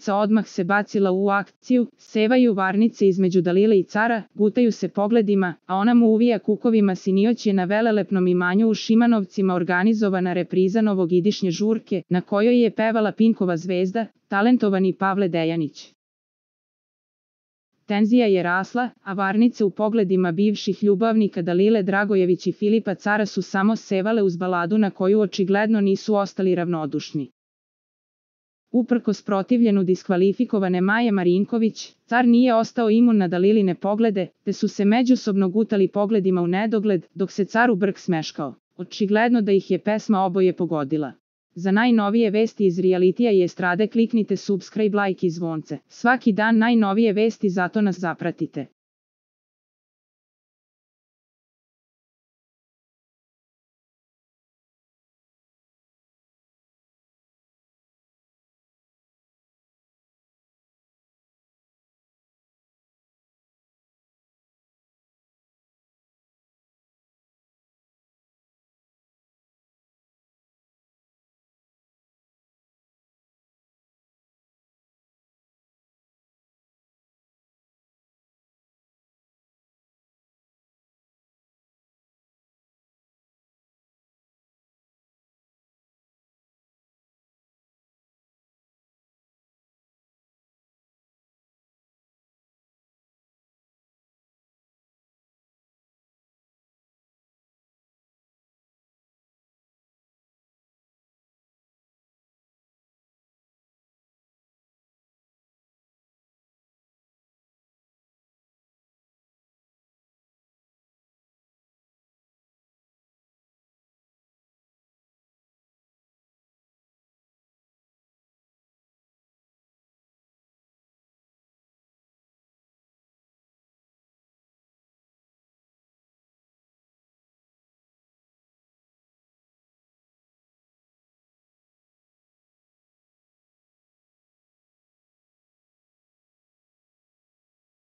Varnica odmah se bacila u akciju, sevaju varnice između Dalile i cara, gutaju se pogledima, a ona mu uvija kukovima sinioć je na velelepnom imanju u Šimanovcima organizovana repriza novogodišnje žurke, na kojoj je pevala Pinkova zvezda, talentovani Pavle Dejanić. Tenzija je rasla, a varnice u pogledima bivših ljubavnika Dalile Dragojević i Filipa Cara su samo sevale uz baladu na koju očigledno nisu ostali ravnodušni. Uprkos protivljenu diskvalifikovane Maje Marinković, car nije ostao imun na Daliline poglede, te su se međusobno gutali pogledima u nedogled, dok se car u brk smeškao. Očigledno da ih je pesma oboje pogodila. Za najnovije vesti iz realitija i estrade kliknite subscribe, like i zvonce. Svaki dan najnovije vesti, zato nas zapratite.